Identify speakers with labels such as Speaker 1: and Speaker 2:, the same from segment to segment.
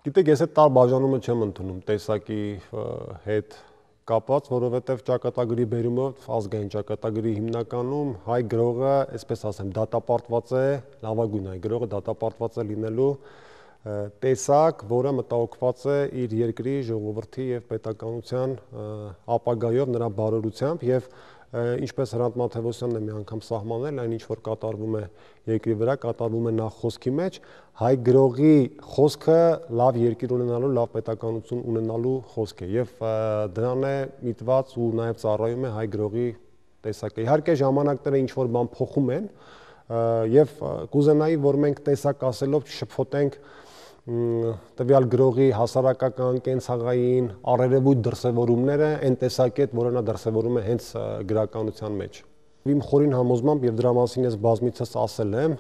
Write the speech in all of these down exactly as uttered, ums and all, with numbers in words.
Speaker 1: Գիտեք, ես այդ տար բաժանումը չեմ ընդունում տեսակի հետ կապված, որովհետև ճակատագրի բերումով ազգային ճակատագրի հիմնականում հայ գրողը, այսպես ասեմ, դատապարտված է, լավագույն հայ գրողը դատապարտված է լինելու տեսակ, որը մտահոգված է իր երկրի, ժողովրդի եւ պետականության ապագայով, նրա բարօրությամբ եւ ինչպես Հրանտ Մաթեւոսյանն է մի անգամ սահմանել, այն ինչ որ կատարվում է երկրի վրա, կատարվում է նախ խոսքի մեջ, հայ գրողի խոսքը լավ երկիր ունենալու, լավ պետականություն ունենալու խոսք է եւ դրան է միտված ու նաեւ ծառայում է հայ գրողի տեսակը։ Իհարկե ժամանակները ինչ որ բան փոխում են եւ կուզենայի, որ մենք տեսակ ասելով չշփոթենք տվյալ գրողի հասարակական, կենցաղային, առերևույթ դրսևորումները այն տեսակի հետ, որը նա դրսևորում է հենց գրականության մեջ։ Իմ խորին համոզմամբ եւ դրա մասին ես բազմիցս ասել եմ,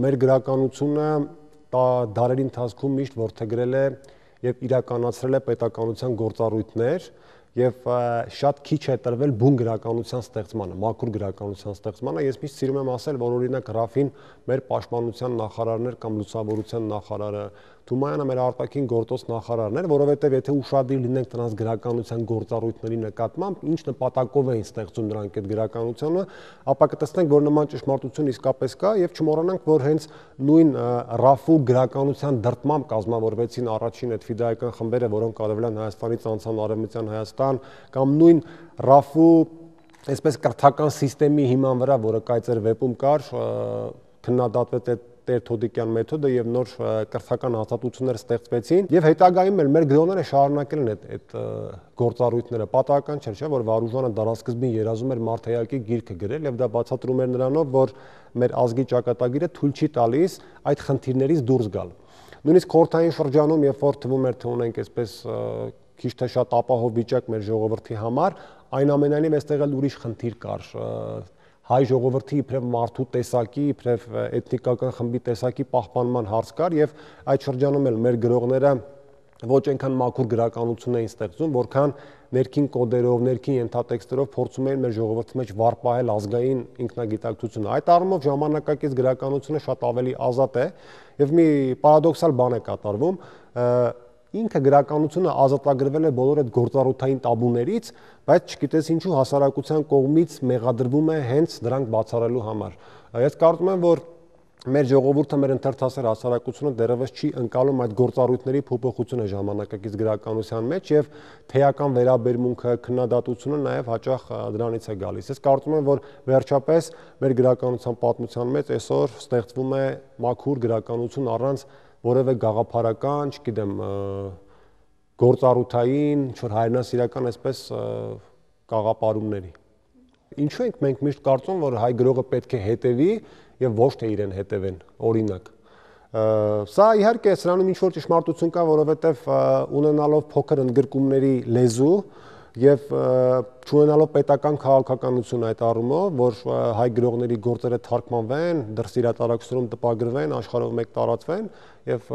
Speaker 1: մեր գրականությունը դարերի ընթացքում միշտ որդեգրել է եւ իրականացրել է պետականության գործառույթներ եւ շատ քիչ է տրվել բուն գրականության ստեղծմանը, մաքուր գրականության ստեղծմանը։ Ես միշտ սիրում եմ ասել, որ օրինակ Ռաֆին մեր պաշտպանության նախարարներ կամ լուսավորության նախարարը, Թումայանը մեր արտաքին գործոս նախարարն էր, որովհետև եթե ուշադիր լինենք նրանց գրականության գործառույթների նկատմամբ, ինչ նպատակով էին ստեղծում նրանք այդ գրականությունը, ապա կտեսնենք, որ նման ճշմարտություն իսկապես կա եւ չմոռանանք, որ հենց նույն Ռաֆու գրականության դրդմամբ կազմավորվեցին առաջին այդ ֆիդայական խմբերը, որոնք արևել են Հայաստանից անցան արևմտյան Հայաստան, կամ նույն Ռաֆու այսպես կրթական համակարգի հիման վրա, որը կայծեր վեպում կար, քննադատվեց այդ Տեր Թոդիկյան մեթոդը եւ նոր կրթական հաստատություններ ստեղծվեցին եւ հետագայում էլ մեր գրողները շարունակել են այդ այդ գործառույթները։ Պատահական չէ, չէ՞, որ Վարուժանը դարասկզբին երազում էր Մարդայակի գիրքը գրել եւ դա բացատրում էր նրանով, որ մեր ազգի ճակատագիրը թույլ չի տալիս այդ խնդիրներից դուրս գալ։ Նույնիսկ խորհրդային շրջանում, երբ որ թվում էր թե ունենք այսպես քիչ թե շատ ապահով վիճակ մեր ժողովրդի համար, այնուամենայնիվ այստեղ էլ ուրիշ խնդիր կար։ Հայ ժողովրդի իբրև մարդու տեսակի, իբրև էթնիկական խմբի տեսակի պահպանման հարց կար եւ այդ շրջանում էլ մեր գրողները ոչ այնքան մաքուր գրականություն էին ստեղծում, որքան ներքին կոդերով, ներքին ենթատեքստերով փորձում էին մեր ժողովրդի մեջ վառպահել ազգային ինքնագիտակցությունը։ Այդ առումով ժամանակակից գրականությունը շատ ավելի ազատ է եւ մի պարադոքսալ բան է կատարվում։ Ինքը գրականությունը ազատագրվել է բոլոր այդ գործառութային տաբուներից, բայց չգիտես ինչու հասարակության կողմից մեղադրվում է հենց դրանք բացառելու համար։ Ես կարծում եմ, որ մեր ժողովուրդը, մեր ընթերցասեր հասարակությունը դեռևս չի ընկալում այդ գործառույթների փոփոխությունը ժամանակակից գրականության մեջ եւ թեական վերաբերմունքը, քննադատությունը նաեւ հաճախ դրանից է գալիս։ Ես կարծում եմ, որ վերջապես մեր գրականության պատմության մեջ այսօր ստեղծվում է մաքուր գրականություն առանց որևէ գաղափարական, չգիտեմ, գործառութային, ինչ-որ հայրենասիրական այսպես կաղապարումների։ Ինչու ենք մենք միշտ կարծում, որ հայ գրողը պետք է հետևի եւ ոչ թե իրեն հետևեն, օրինակ։ Սա իհարկե սրանում ինչ-որ ճշմարտություն կա, որովհետեւ ունենալով փոքր ընդգրկումների լեզու եւ չունենալով պետական քաղաքականություն այդ առումով, որ հայ գրողների գործերը թարգմանվեն, դրսի հրատարակությունում տպագրվեն, աշխարհով մեկ տարածվեն եւ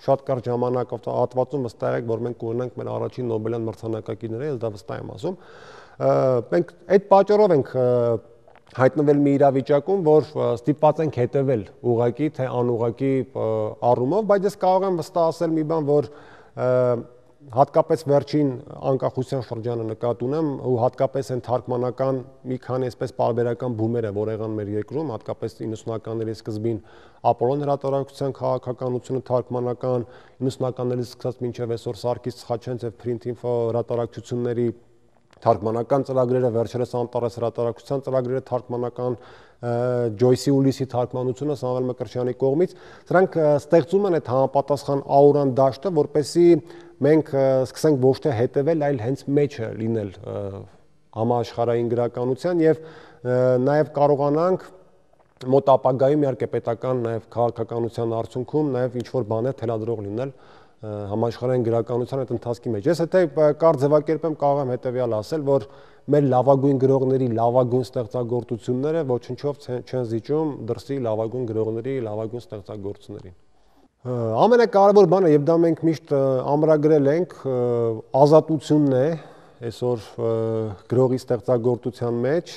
Speaker 1: շատ կարճ ժամանակահատվածում վստահ եք, որ մենք կունենանք մեր առաջին Նոբելյան մրցանակակիրները, ես դա վստահ եմ ասում։ Մենք այդ պատճառով ենք հայտնվել մի իրավիճակում, որ ստիպված ենք հետևել ուղղակի թե անուղղակի առումով, բայց ես կարող եմ վստահ ասել մի բան, որ հատկապես վերջին անկախության շրջանը նկատի ունեմ ու հատկապես այն թարգմանական մի քանի այսպես պարբերական բումերը, որ եղան մեր երկրում, հատկապես իննսունականների սկզբին Ապոլոն հրատարակության քաղաքականությունը թարգմանական, իննսունականներից սկսած մինչև այսօր Սարգիս Խաչանց եւ Print Info հրատարակությունների թարգմանական ծրագրերը, վերջերս Անտարես հրատարակության ծրագրերը թարգմանական, Ջոյսի Ուլիսի թարգմանությունը Սամվել Մկրտչյանի կողմից, սրանք ստեղծում են այդ համապատասխան աուրան դաշտը, որպեսզի մենք սկսենք ոչ թե հետևել, այլ հենց մեջը լինել համաշխարհային գրականության եւ նաեւ կարողանանք մոտ ապագայում իհարկե պետական նաեւ քաղաքականության արդյունքում նաեւ ինչ որ բաներ թելադրող լինել համաշխարհային գրականության այդ ընթացքի մեջ։ Ես եթե կարճ ձևակերպեմ կարող եմ հետեւյալ ասել, որ մեր լավագույն գրողների լավագույն ստեղծագործությունները ոչնչով չեն զիջում դրսի լավագույն գրողների լավագույն ստեղծագործություններին։ Ամենակարևոր բանը, եւ դա մենք միշտ ամրագրել ենք, ազատությունն է այսօր գրողի ստեղծագործության մեջ,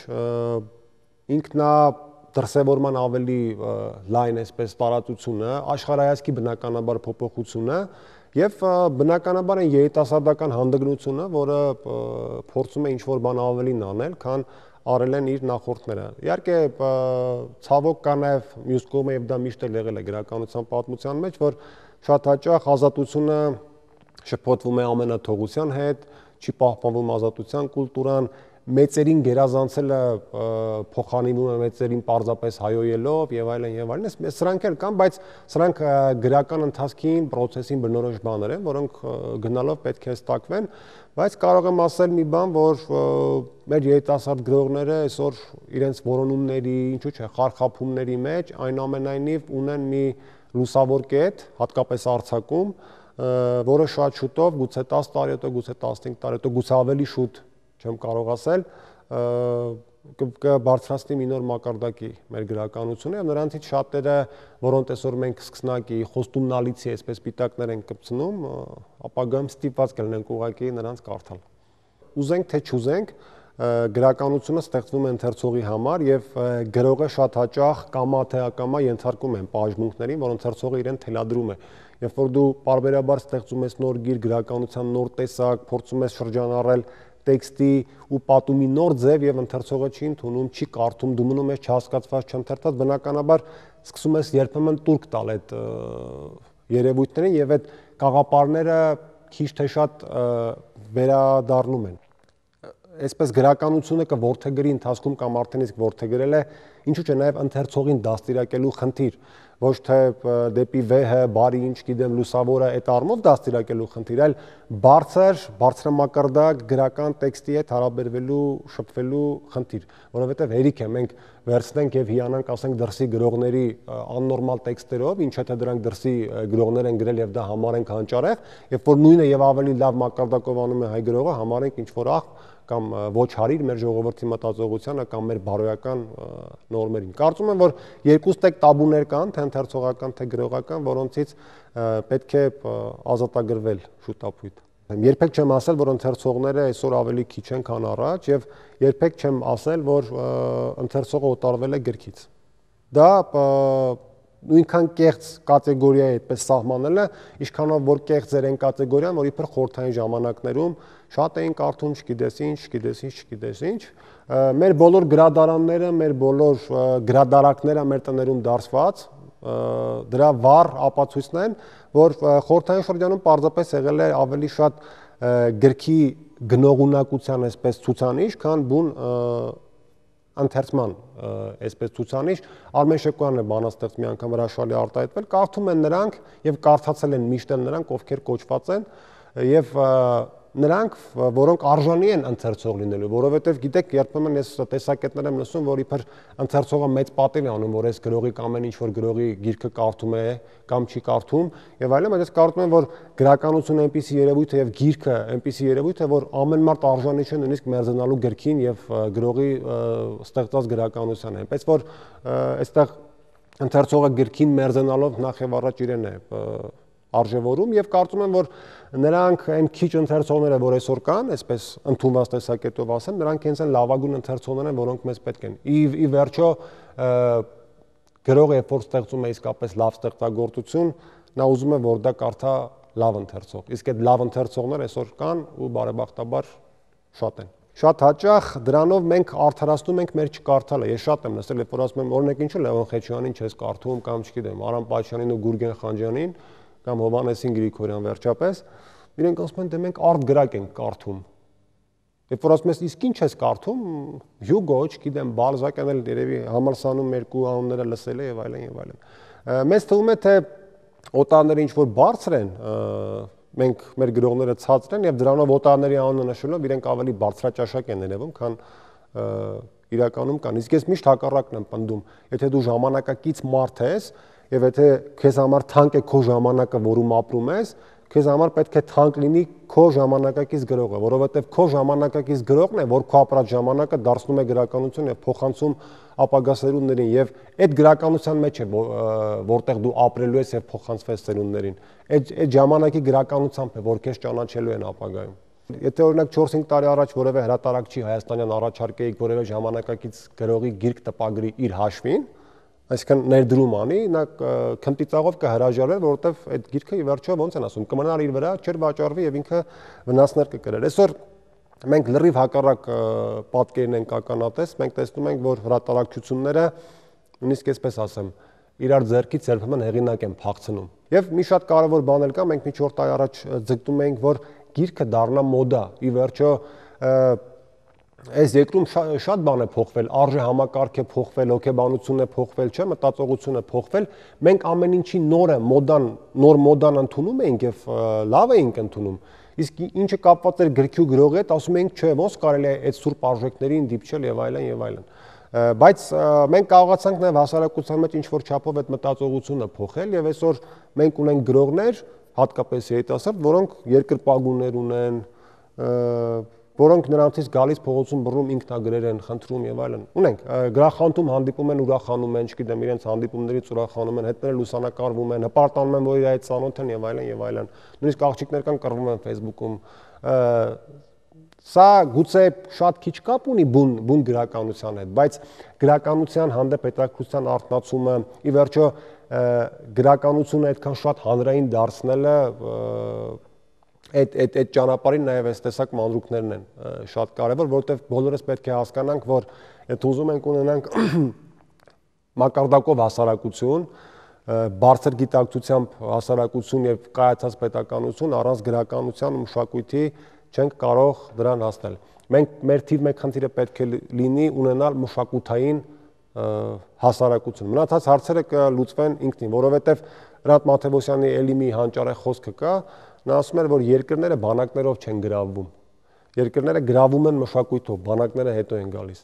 Speaker 1: ինքնա դրսևորման ավելի լայն այսպես տարածությունը, աշխարհայացքի բնականաբար փոփոխությունը եւ բնականաբար այն երիտասարդական հանդգնությունը, որը փորձում է ինչ-որ բան ավելին անել, քան արել են իր նախորդները։ Իհարկե, ցավոք կա նաև մյուս կողմը եւ դա միշտ էլ եղել է գրականության պատմության մեջ, որ շատ հաճախ ազատությունը շփոթվում է ամենաթողության հետ, չի պահպանվում ազատության կուլտուրան, մեծերին գերազանցելը փոխանցվում է մեծերին պարզապես հայոյելով եւ այլն եւ այլն։ Սրանք էլ կան, բայց սրանք գրական ընթացքին, process-ին բնորոշ բաներ են, որոնք գնալով պետք է ստակվեն, բայց կարող եմ ասել մի բան, որ մեր երիտասարդ գրողները այսօր իրենց որոնումների, ինչու՞ չէ, խարխափումների մեջ այնուամենայնիվ ունեն մի լուսավոր կետ, հատկապես արձակում, որը շատ շուտով, գուցե տասը տարի հետո, գուցե տասնհինգ տարի հետո, գուցե ավելի շուտ չեմ կարող ասել, կբարձրացնի մի նոր մակարդակի մեր գրականությունը եւ նրանցից շատերը, որոնց այսօր մենք սկսնակի խոստումնալիցի այսպես պիտակներ են կպցնում, ապագայում ստիպված կլինենք ուղղակի նրանց կարդալ։ Ուզենք թե չուզենք, գրականությունը ստեղծվում է ընթերցողի համար եւ գրողը շատ հաճախ կամա թե ակամա ենթարկում են բաժմունքներին, որ ընթերցողը իրեն թելադրում է։ Երբ որ դու պարբերաբար ստեղծում ես նոր գիր, գրականության նոր տեսակ, փորձում ես շրջանառել տեքստի ու պատումի նոր ձև եւ ընթերցողը չի ընդունում, չի կարդում, դու մնում ես չհասկացված, չընթերցած, բնականաբար սկսում ես երբեմն տուրք տալ այդ երևույթներին եւ այդ կաղապարները քիչ թե շատ վերադառնում են։ Այսպես գրականությունը կորթեգրի ընթացքում կամ արդեն իսկ ворթեգրել է, ինչու՞ չէ նաև ընթերցողին դաստիարակելու խնդիր, ոչ թե դեպի վեհը, բարի ինչ գիտեմ, լուսավորը այդ առումով դաստիարակելու խնդիր, այլ բարձր, բարձրամակարդակ գրական տեքստի հետ հարաբերվելու, շփվելու խնդիր, որովհետև հերիք է մենք վերցնենք եւ հիանանք, ասենք դրսի գրողների աննորմալ տեքստերով, ինչ թե դրանք դրսի գրողներ են գրել եւ դա համարենք հանճարեղ, երբ որ նույնը եւ ավելի լավ մակարդակով անում է հայ գրողը, համարենք ինչ որ ախ կամ ոչ հարիր մեր ժողովրդի մտածողությանը կամ մեր բարոյական նորմերին։ Կարծում եմ, որ երկուստ էլ տաբուներ կան, թե ընթերցողական, թե գրողական, որոնցից պետք է ազատագրվել շուտապույտ։ Երբեք չեմ ասել, որ ընթերցողները այսօր ավելի քիչ են, քան առաջ, եւ երբեք չեմ ասել, որ ընթերցողը օտարվել է գրքից։ Դա նույնքան կեղծ կատեգորիա է այդպես սահմանելը, ինչքանով որ կեղծ էր այն կատեգորիան, որ իբր խորհրդային ժամանակներում շատ էին կարդում, չգիտես ինչ, չգիտես ինչ, չգիտես ինչ։ Մեր բոլոր գրադարանները, մեր բոլոր գրադարակները մեր տներում դարսված, դրա վառ ապացույցն են, որ խորհրդային շրջանում պարզապես եղել է ավելի շատ գրքի գնողունակության այսպես ցուցանիշ, քան բուն ընթերցման այսպես ցուցանիշ։ Արմեն Շեկոյանն է բանաստեղծ մի անգամ հրաշալի արտահայտվել, կարդում են նրանք եւ կարդացել են միշտ էլ նրանք, ովքեր կոչված են եւ նրանք, որոնք արժանի են ընթերցող լինելու, որովհետև գիտեք, երբեմն ես տեսակետներ եմ լսում, որ իբր ընթերցողը մեծ պատիվ է անում, որ այս գրողի կամ այն ինչ որ գրողի գիրքը կարդում է կամ չի կարդում եւ այլն, բայց ես կարծում եմ, որ գրականությունը այնպիսի երևույթ է եւ գիրքը այնպիսի երևույթ է, որ ամեն մարդ արժանի չէ նույնիսկ մերձանալու գրքին եւ գրողի ստեղծած գրականությանը, այնպես որ այստեղ ընթերցողը գրքին մերձանալով նախ եւ առաջ իրեն է արժևորում եւ կարծում եմ, որ նրանք այն քիչ ընթերցողները, որ այսօր կան, այսպես ընդունված տեսակետով ասեմ, նրանք հենց այն լավագույն ընթերցողներն են, որոնք մեզ պետք են։ Ի ի վերջո գրողը երբ որ ստեղծում է իսկապես լավ ստեղծագործություն, նա ուզում է, որ դա կարդա լավ ընթերցող։ Իսկ այդ լավ ընթերցողներ այսօր կան ու բարեբախտաբար շատ են։ Շատ հաճախ դրանով մենք արդարացնում ենք մեր չկարդալը։ Ես շատ եմ լսել, երբ որ ասում եմ, օրինակ ինչու Լևոն Խեչյանին չես կարդում կամ չգիտեմ, Արամ Պաչյանին ու Գուրգեն Խանջյանին կամ Հովհաննեսին Գրիգորյան վերջապես, իրենք ասում են, դե մենք արտգրակ ենք կարդում։ Երբ որ ասում ես, իսկ ինչ ես կարդում, Հյուգո, չգիտեմ, Բալզակյան էլ երևի համալսանում երկու անունները լսել է եւ այլն եւ այլն։ Մեզ թվում է, թե օտարները ինչ որ բարձր են, մենք մեր գրողները ցածր են եւ դրանով օտարների անունը նշելով իրենք ավելի բարձրաճաշակ են ներևում, քան իրականում կան։ Իսկ ես միշտ հակառակն եմ պնդում, եթե դու ժամանակակից մարդ ես եւ եթե քեզ համար թանկ է քո ժամանակը, որում ապրում ես, քեզ համար պետք է թանկ լինի քո ժամանակակից գրողը, որովհետեւ քո ժամանակակից գրողն է, որ քո ապրած ժամանակը դարձնում է գրականություն եւ փոխանցում ապագա սերունդներին եւ այդ գրականության մեջ է, որտեղ դու ապրելու ես եւ փոխանցվես սերունդներին։ Այդ այդ ժամանակի գրականությամբ է, որ քեզ ճանաչելու են ապագայում։ Եթե օրինակ չորս-հինգ տարի առաջ որևէ հրատարակչի հայաստանյան առաջարկեիք որևէ ժամանակակից գրողի գիրք տպագրի իր հաշվին, այսինքն ներդրում անի, նա քմտիծաղով կհրաժարվեր, որովհետև այդ գիրքը ի վերջո ոնց են ասում, կմնար իր վրա, չէր վաճառվի եւ ինքը վնասներ կկրեր։ Այսօր մենք լրիվ հակառակ պատկերն ենք ականատես, մենք տեսնում ենք, որ հրատարակչությունները նույնիսկ այսպես ասեմ, իրար ձեռքից երբեմն հեղինակ են փախցնում։ Եվ մի շատ կարևոր բան էլ կա, մենք մի չորս տարի առաջ ձգտում էինք, որ գիրքը դառնա մոդա, ի վերջո այս երկրում շատ բան է փոխվել, արժե համակարգ է փոխվել, հոգեբանությունն է փոխվել, չէ, մտածողությունն է փոխվել։ Մենք ամեն ինչի նորը, մոդան, նոր մոդան ընդունում ենք եւ լավ էինք ընդունում։ Իսկ ինչը կապված էր գրքի ու գրողի հետ, ասում էինք, չէ, ոնց կարելի է այդ սուրբ արժեքներին դիպչել եւ այլն եւ այլն։ Բայց մենք կարողացանք նաեւ հասարակության մեջ ինչ-որ չափով այդ մտածողությունը փոխել եւ այսօր մենք ունենք գրողներ, հատկապես երիտասարդ, որոնք երկրպագուներ ունեն, որոնք նրանցից գալիս փողոցում բռնում ինքնագրեր են, խնդրում եւ այլն։ Ունենք գրախանութում հանդիպում են, ուրախանում են, չգիտեմ, իրենց հանդիպումներից ուրախանում են, հետները լուսանկարվում են, հպարտանում են, որ իր այդ ծանոթ են եւ այլն եւ այլն։ Նույնիսկ աղջիկներ կան կռվում են Facebook-ում։ Սա գուցե շատ քիչ կապ ունի բուն բուն գրականության հետ, բայց գրականության հանդեպ հետաքրքրության արթնացումը, ի վերջո գրականությունը այդքան շատ հանրային դարձնելը այդ այդ այդ ճանապարհին նաև այս տեսակ մանրուքներն են շատ կարևոր, որովհետև բոլորս պետք է հասկանանք, որ եթե ուզում ենք ունենանք մակարդակով հասարակություն, բարձր գիտակցությամբ հասարակություն եւ կայացած պետականություն առանց գրականության ու մշակույթի չենք կարող դրան հասնել։ Մենք մեր թիվ մեկ խնդիրը պետք է լինի ունենալ մշակութային հասարակություն։ Մնացած հարցերը կլուծվեն ինքնին, որովհետև Հրանտ Մաթևոսյանի էլի մի հանճարեղ խոսքը կա, նա ասում էր, որ երկրները բանակներով չեն գրավում։ Երկրները գրավում են մշակույթով, բանակները հետո են գալիս։